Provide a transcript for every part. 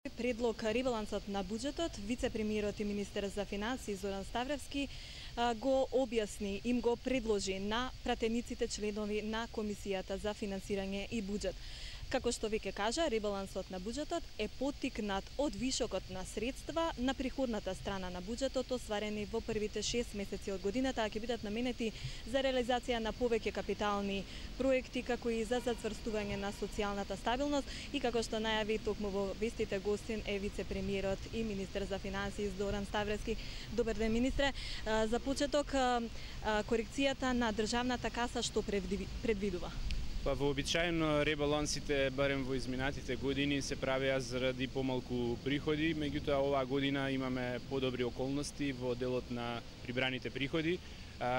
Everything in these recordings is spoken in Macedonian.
Предлог ребалансот на буџетот, вице-премиерот и министер за финансии Зоран Ставревски го објасни, им го предложи на пратениците членови на Комисијата за финансирање и буџет. Како што веќе кажа, ребалансот на буџетот е поттикнат од вишокот на средства на приходната страна на буџетот, остварени во првите 6 месеци од годината, а ќе бидат наменети за реализација на повеќе капитални проекти, како и за зацврстување на социјалната стабилност. И како што најави токму во вестите, гостин е вице-премиерот и министер за финансии Зоран Ставревски. Добар ден, министре. За почеток, корекцијата на државната каса што предвидува? Вообичаено ребалансите, барем во изминатите години, се правеа заради помалку приходи, меѓутоа оваа година имаме подобри околности во делот на прибраните приходи.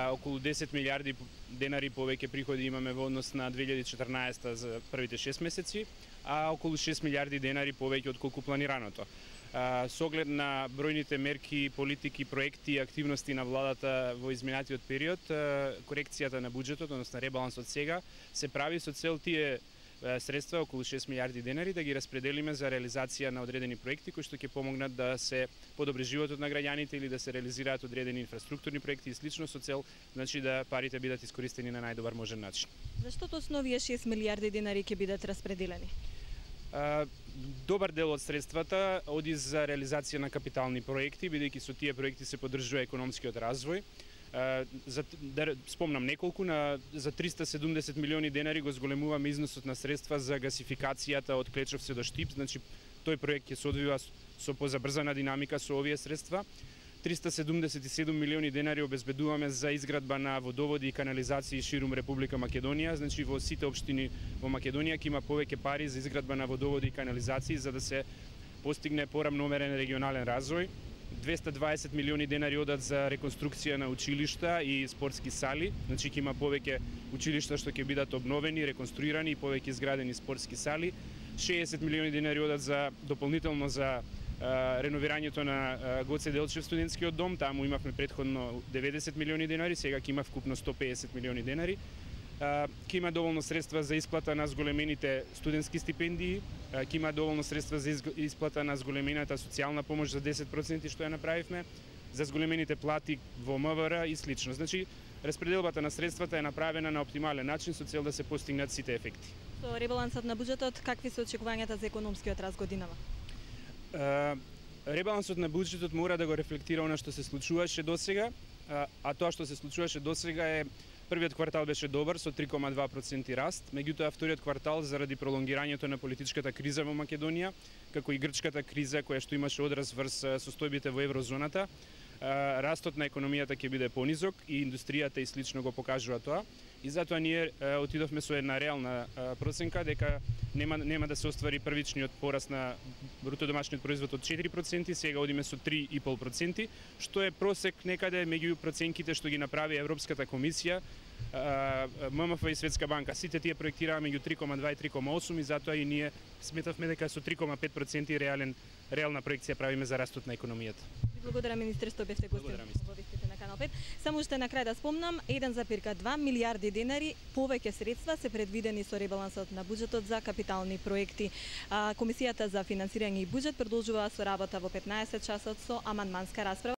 Околу 10 милиарди денари повеќе приходи имаме во однос на 2014 за првите 6 месеци, а околу 6 милиарди денари повеќе отколку планираното. Со оглед на бројните мерки, политики, проекти и активности на владата во изминатиот период, корекцијата на буџетот, односно ребалансот сега, се прави со цел тие средства, околу 6 милиарди денари, да ги распределиме за реализација на одредени проекти кои што ќе помогнат да се подобри животот на граѓаните или да се реализираат одредени инфраструктурни проекти и слично, со цел да парите бидат искористени на најдобар можен начин. Зашто точно овие 6 милиарди денари ќе бидат распределени? Добар дел од средствата оди за реализација на капитални проекти, бидејќи со тие проекти се поддржува економскиот развој. Да спомнам неколку, за 370 милиони денари го зголемуваме износот на средства за гасификацијата од Клечовце до Штип, значи тој проект ќе се одвива со позабрзана динамика со овие средства. 377 милиони денари обезбедуваме за изградба на водоводи и канализации ширум Република Македонија, значи во сите општини во Македонија ќе има повеќе пари за изградба на водоводи и канализации за да се постигне порамномерен регионален развој. 220 милиони денари одат за реконструкција на училишта и спортски сали, значи ќе има повеќе училишта што ќе бидат обновени, реконструирани и повеќе изградени спортски сали. 60 милиони денари одат за дополнително за реновирањето на Гоце Делчев студентскиот дом, таму имавме претходно 90 милиони денари, сега ќе има вкупно 150 милиони денари. Ќе има доволно средства за исплата на зголемените студентски стипендии, ќе има доволно средства за исплата на зголемената социјална помош за 10% што ја направивме, за зголемените плати во МВР и слично. Значи, распределбата на средствата е направена на оптимален начин со цел да се постигнат сите ефекти. Со ребалансот на буџетот, какви се очекувањата за економскиот раст годинава? Ребалансот на буџетот мора да го рефлектира она што се случуваше досега, а тоа што се случуваше досега е првиот квартал беше добар со 3,2% раст, меѓутоа вториот квартал заради пролонгирањето на политичката криза во Македонија, како и грчката криза која што имаше одраз врз состојбите во еврозоната, растот на економијата ќе биде понизок и индустријата и слично го покажува тоа. И затоа ние отидовме со една реална проценка дека нема да се оствари првичниот пораст на бруто домашниот производ од 4%, сега одиме со 3,5%, што е просек некаде меѓу проценките што ги направи Европската комисија, ММФ и Светска банка. Сите тие проектираа меѓу 3,2 и 3,8 и затоа и ние сметавме дека со 3,5% реална проекција правиме за растот на економијата. Благодарам, министре, што бевте гостин во вестите на Канал 5. Само уште на крај да спомнам, 1,2 милиарди денари повеќе средства се предвидени со ребалансот на буџетот за капитални проекти. Комисијата за финансирање и буџет продолжува со работа во 15 часот со амандманска расправа.